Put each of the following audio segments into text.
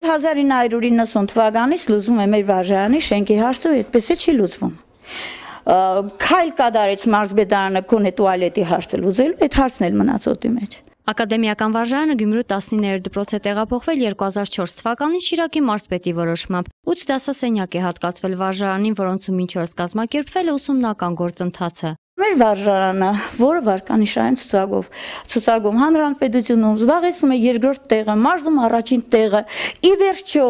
Եվ 1990 թվականից լուծվում է մեր վարժարանի շենքի հարցը, այդպես էլ չի լուծվում։ Քայլ կատարեց մարզպետարանը քոնե տուալետի հարցը լուծելու, այդ հարցն էլ մնաց օդի մեջ։ Ակադեմիական վարժարանը Գյումրու 19-րդ դպրոց է տեղափոխվել 2004 թվականին Շիրակի մարզպետի որոշմամբ։ 8 դասասենյակ է հատկացվել վարժարանին, որոնցում մինչ օրս կազմակերպվել է ուսումնական գործընթացը։ Մեր վարժարանը, որը վարկանիշային ցուցակում հանրապետությունում զբաղեցնում է երկրորդ տեղը, մարզում առաջին տեղը, ի վերջո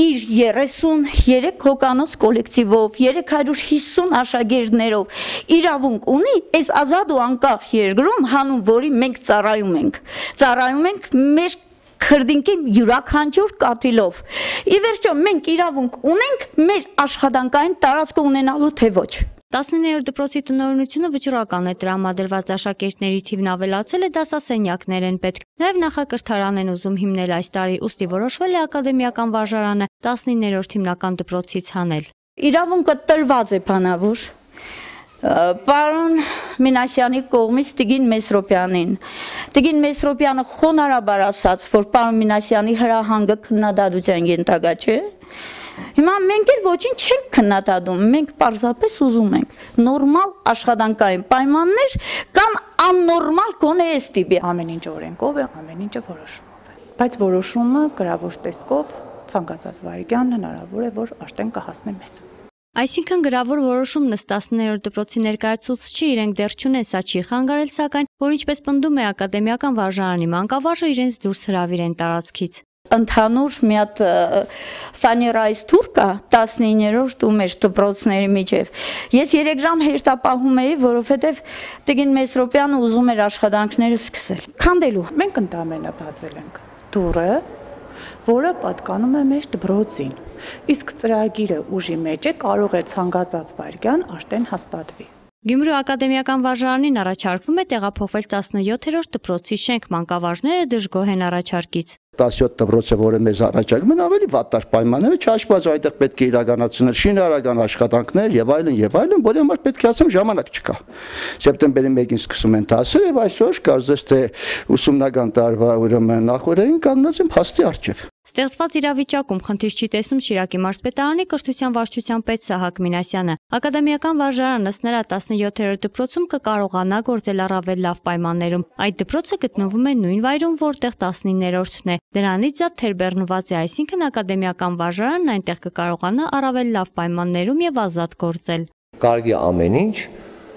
իր 33 հոգանոց կոլեկտիվով, 350 աշակերտներով իրավունք ունի այս ազատ ու անկախ երկրում, հանուն որի մենք ծառայում ենք։ Ծառայում ենք մեր քրդինքի յուրաքանչյուր կաթիլով։ Ի վերջո մենք իրավունք ունենք մեր աշխատանքային տարածքը ունենալու, թե ոչ։ 19-րդ դպրոցի տնօրինությունը վճռական է, տրամադրված աշակերտների թիվն ավելացել է, դասասենյակներ են պետք։ Նաև նախակրթարան են ուզում հիմնել այս տարի, ուստի որոշվել է ակադեմիական վարժարանը 19-րդ հիմնական դպրոցից հանել։ Իրավունքը տրված է բանավոր պարոն Մինասյանի կողմից Տիգին Մեսրոպյանին։ Տիգին Մեսրոպյանը խոնարհաբար ասաց, որ պարոն Մինասյանի հրահանգը քննադատության ենթակա չէ։ Հիմա մենք էլ ոչինչ չենք քննադատում, մենք պարզապես ուզում ենք նորմալ աշխատանքային պայմաններ կամ աննորմալ գոնե այս տիպի։ Ամեն ինչ օրենքով է, ամեն ինչը որոշումով է։ Բայց որոշումը գրավոր տեսքով ցանկացած վարքյան հնարավոր է, որ աշտեն կհասնի մեզ։ Այսինքն գրավոր որոշումն ըստ 19-րդ դպրոցի ներկայացուցչի իրենք դեռ չունեն, սա չի խանգարել, սակայն, որ ինչպես պնդում է ակադեմիական վարժարանի մանկավարժը, իրենց դուրս հրավիրեն տարածքից։ Ընդհանուր մի հատ ֆաներայից թուր կա 19-րդ ու մեր դպրոցների միջև։ Ես 3 ժամ հեշտապահում էի, որովհետև Տիգին Մեսրոպյանը ուզում էր աշխատանքները սկսել։ Քանդելու։ Մենք ընդամենը բացել ենք դուռը, որը պատկանում է մեր դպրոցին։ Իսկ ծրագիրը ուժի մեջ է, կարող է ցանկացած վարքյան աշտեն հաստատվի։ Գյումրու ակադեմիական վարժարանին առաջարկվում է տեղափոխվել 17-րդ դպրոցի շենք, մանկավարժները դժգոհ են առաջարկից։ 17 դպրոցը, որը մեզ առաջարկում են, ավելի վատտար պայմաններ, չհաշված այդտեղ պետք է իրականացնել շինարարական աշխատանքներ եւ այլն, որի համար պետք է ասեմ ժամանակ չկա։ Սեպտեմբերի 1-ին սկսում են դասեր եւ այսօր կարծես թե ուսումնական տարվա ուրեմն նախորդին կանգնած են փաստի առջև։ Ստեղծված իրավիճակում խնդիր չի տեսնում Շիրակի մարզպետարանի կրթության վարչության պետ Սահակ Մինասյանը։ Ակադեմիական վարժարանը ըստ նրա 17-րդ դպրոցում կկարողանա գործել առավել լավ պայմաններում։ Այդ դպրոցը գտնվում է նույն վայրում, որտեղ 19-րդն է։ Դրանից զատ թերբեռնված է, այսինքն ակադեմիական վարժարանն այնտեղ կկարողանա առավել լավ պայմաններում եւ ազատ գործել։ Կարելի է ամեն ինչ,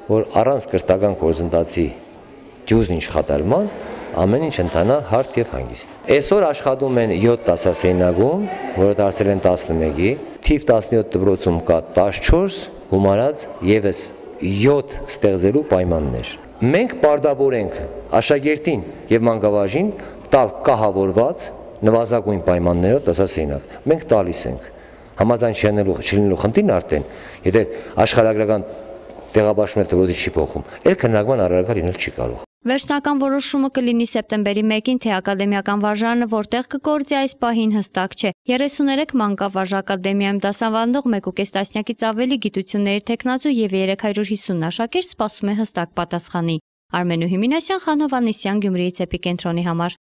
որ առանց կրթական գործընթացի դյուզն աշխատարման ամեն ինչ ընթանա հարթ եւ հանգիստ։ Այսօր աշխատում են 7 դասասենյակում, որը դարձել են 11-ի, թիվ 17 դպրոցում կա 14, գումարած եւս 7 ստեղծելու պայմաններ։ Մենք պարտավոր ենք աշակերտին եւ մանկավարժին տալ կահավորված նվազագույն պայմաններով դասասենյակ։ Մենք տալիս ենք։ Համաձայն չլինելու խնդիրն արդեն, եթե աշխարհագրական տեղաբաշխումն դպրոցի չի փոխում, այլ քննարկման առարկա լինել չի կարող։ Վերջնական որոշումը կլինի սեպտեմբերի 1-ին, թե ակադեմիական վարժարանը որտեղ կգործի այս պահին հստակ չէ։ 33 մանկավարժ ակադեմիայում դասավանդող 1.5 տասնյակից ավելի գիտությունների թեկնածու եւ 350 աշակերտ սպասում է հստակ պատասխանի։ Արմենուհի Մինասյան, Խանհ Հովհաննիսյան, Գյումրիից էպիկենտրոնի համար։